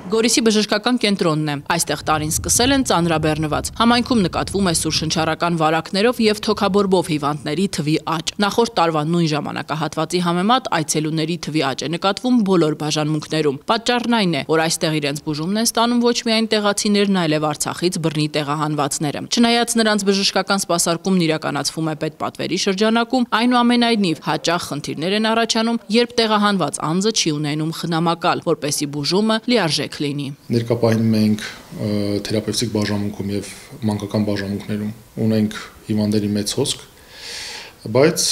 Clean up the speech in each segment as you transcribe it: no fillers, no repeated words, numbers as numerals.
Գորիսի բժշկական կենտրոնն է։ Այստեղ տարին սկսել են ծանրաբեռնված։ Համայնքում նկատվում է սուրշնչառական վարակներով եւ թոքաբորբով հիվանդների թվի աճ։ Նախորդ տարվա նույն ժամանակահատվածի համեմատ այցելուների թվի աճ է նկատվում բոլոր բաժանմունքներում։ Պատճառն այն է, որ այստեղ իրենց բուժումն են ստանում ոչ միայն տեղացիներն, այլև Արցախից բռնի տեղահանվածները։ Չնայած նրանց բժշկական սպասարկումն իրականացվում է պետպատվերի շրջանակում, այնուամենայնիվ հաճախ խնդիրներ են առաջանում, երբ տեղահանված անձը չի ունենում խնամակալ, որպեսզի բուժումը լիարժեք լինի։ Ներկապահին մենք թերապևտիկ բաժանմունքում եւ մանկական բաժանմունքներում ունենք հիվանդների մեծ հոսք, բայց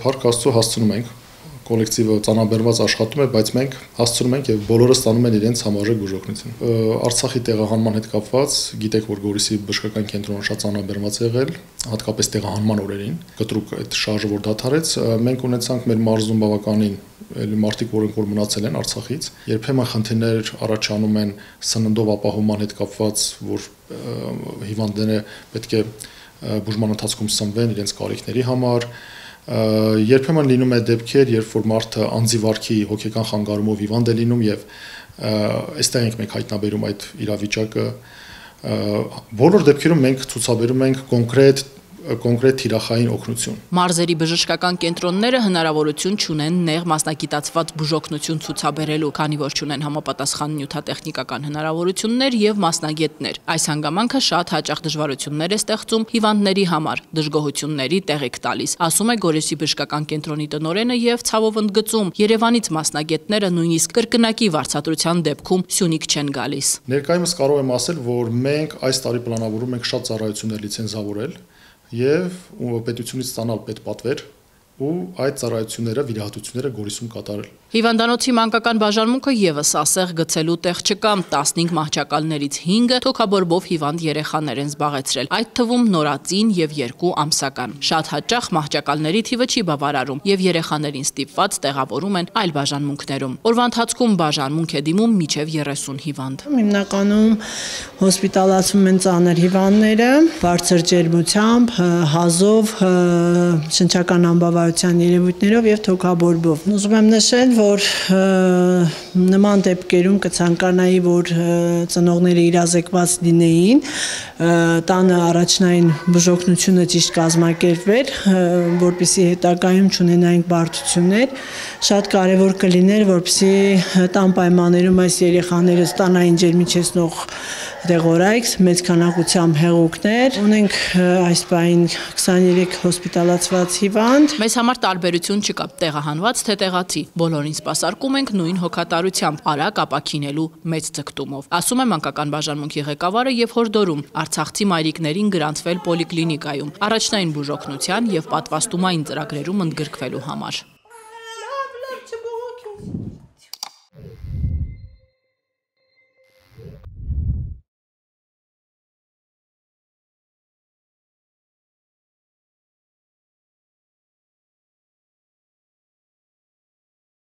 փառք Աստծո հասցնում ենք, կոլեկտիվը ծանրաբեռնված աշխատում է, բայց մենք հասցնում ենք եւ բոլորը ստանում են իրենց համարժեք բուժօգնություն։ Արցախի տեղահանման հետ կապված գիտեք, որ Գորիսի բժշկական կենտրոնը շատ ծանրաբեռնված է եղել, հատկապես տեղահանման օրերին, կտրուկ այդ շարժը որ դադարեց, մենք ունեցանք մեր մարզում բավականին մարդիկ, որոնք որ մնացել են Արցախից, երբեմն խնդիրներ առաջանում են սննդով ապահովման հետ կապված, որ հիվանդները պետք է բուժման ընթացքում սնվեն իրենց կարիքների համար, երբեմն լինում է դեպքեր, երբ որ մարդը անձի վարքի հոգեկան խանգարումով հիվանդ է լինում եւ այստեղ ենք մենք հայտնաբերում այդ իրավիճակը, բոլոր դեպքերում մենք ցուցաբերում ենք կոնկրետ թիրախային օգնություն։ Մարզերի բժշկական կենտրոնները հնարավորություն չունեն նեղ մասնագիտացված բուժօգնություն ցուցաբերելու, քանի որ չունեն համապատասխան նյութատեխնիկական հնարավորություններ եւ մասնագետներ։ Այս հանգամանքը շատ հաճախ դժվարություններ է ստեղծում հիվանդների համար, դժգոհությունների տեղիք տալիս, ասում է Գորիսի բժշկական կենտրոնի տնօրենը եւ ցավով ընդգծում, Երևանից մասնագետները նույնիսկ կրկնակի վարձատրության դեպքում Սյունիք չեն գալիս։ Ներկայումս կարող եմ ասել, որ մենք այս տարի պլանավորում ենք շատ ծառայություններ լիցենզավորել եւ պետությունից ստանալ պետպատվեր ու այդ ծառայությունները, վիրահատությունները Գորիսում կատարել։ Հիվանդանոցի մանկական բաժանմունքը եւս ասեղ գցելու տեղ չկա, 15 մահճակալներից 5-ը թոքաբորբով հիվանդ երեխաներ են զբաղեցրել, այդ թվում նորածին եւ 2 ամսական։ Շատ հաճախ մահճակալների թիվը չի բավարարում եւ երեխաներին ստիպված տեղավորում են այլ բաժանմունքներում։ Օրվա ընթացքում բաժանմունք է դիմում մինչեւ 30 հիվանդ։ Հիմնականում հոսպիտալացվում են ծանր հիվանդները, բարձր ջերմությամբ, հազով, շնչական անբավարարության երևույթներով եւ թոքաբորբով։ Ուզում եմ նշել, որ նման դեպքերում կցանկանայի, որ ծնողները իրազեկված լինեին, տանը առաջնային բուժօգնությունը ճիշտ կազմակերպվեր, որպեսզի հետագայում չունենայինք բարդություններ, շատ կարևոր կլիներ, որպեսզի տան պայմաններում այս երեխաները ստանային ջերմիչեցնող դեղորայք, մեծ քանակությամբ հեղուկներ, ունենք այս պահին 23 հոսպիտալացված հիվանդ։ Մեզ համար տարբերություն չկա, տեղահանված թե տեղացի, բոլորին սպասարկում ենք նույն հոգատարությամբ, արագ ապաքինելու մեծ ձգտումով, ասում է մանկական բաժանմունքի ղեկավարը եւ հորդորում արցախցի մայրիկներին գրանցվել պոլիկլինիկայում, առաջնային բուժօգնության եւ պատվաստումային ծրագրերում ընդգրկվելու համար։